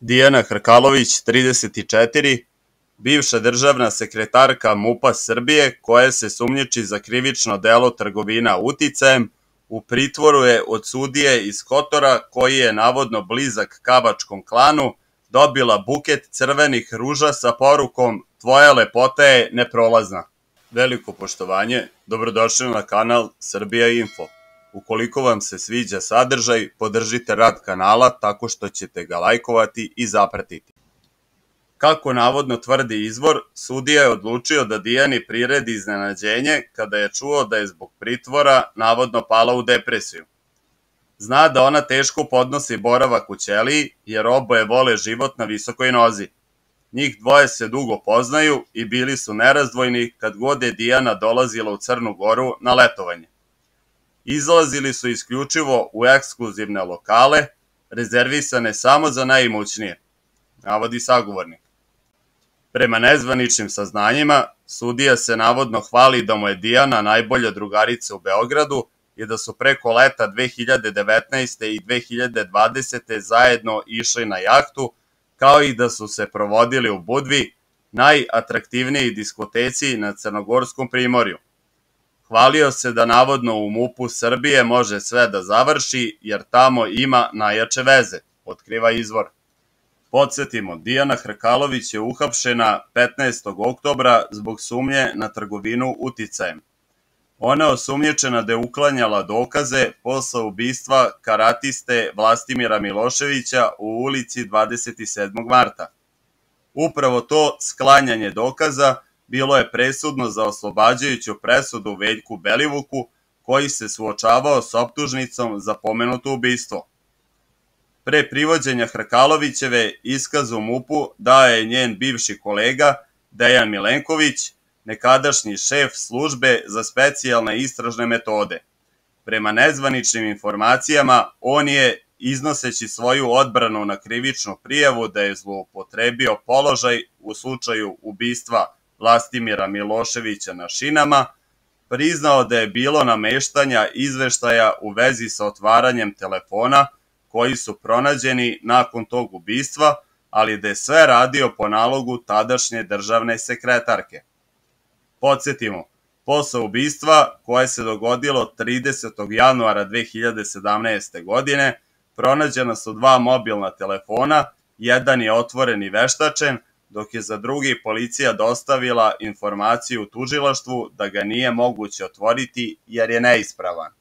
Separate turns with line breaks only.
Dijana Hrkalović, 34, bivša državna sekretarka MUP-a Srbije, koja se sumnjiči za krivično delo trgovina uticajem, u pritvoru je od sudije iz Kotora, koji je navodno blizak Kavačkom klanu, dobila buket crvenih ruža sa porukom "Tvoja lepota je neprolazna". Veliko poštovanje, dobrodošli na kanal Srbija Info. Ukoliko vam se sviđa sadržaj, podržite rad kanala tako što ćete ga lajkovati i zapratiti. Kako navodno tvrdi izvor, sudija je odlučio da Dijani priredi iznenađenje kada je čuo da je zbog pritvora navodno pala u depresiju. Zna da ona teško podnosi boravak u ćeliji jer oboje vole život na visokoj nozi. Njih dvoje se dugo poznaju i bili su nerazdvojni kad god je Dijana dolazila u Crnu Goru na letovanje. Izlazili su isključivo u ekskluzivne lokale, rezervisane samo za najimućnije, navodi sagovornik. Prema nezvaničnim saznanjima, sudija se navodno hvali da mu je Dijana najbolja drugarica u Beogradu i da su preko leta 2019. i 2020. zajedno išli na jahtu, kao i da su se provodili u Budvi, najatraktivnijoj diskoteci na Crnogorskom primorju. Hvalio se da navodno u MUP-u Srbije može sve da završi jer tamo ima najjače veze, otkriva izvor. Podsjetimo, Dijana Hrkalović je uhapšena 15. oktobra zbog sumnje na trgovinu uticajem. Ona je osumnjičena da je uklanjala dokaze posle ubistva karatiste Vlastimira Miloševića u ulici 27. marta. Upravo to sklanjanje dokaza bilo je presudno za oslobađajuću presudu Veljku Belivuku, koji se suočavao s optužnicom za pomenuto ubistvo. Pre privođenja Hrkalovićeve iskaz u MUP-u dao je njen bivši kolega Dejan Milenković, nekadašnji šef službe za specijalne istražne metode. Prema nezvaničnim informacijama, on je, iznoseći svoju odbranu na krivičnu prijavu da je zloupotrebio položaj u slučaju ubistva Vlastimira Miloševića na šinama, priznao da je bilo nameštanja izveštaja u vezi sa otvaranjem telefona koji su pronađeni nakon tog ubistva, ali da je sve radio po nalogu tadašnje državne sekretarke. Podsjetimo, posle ubistva, koje se dogodilo 30. januara 2017. godine, pronađena su dva mobilna telefona, jedan je otvoren i veštačen, dok je za drugi policija dostavila informaciju tužilaštvu da ga nije moguće otvoriti jer je neispravan.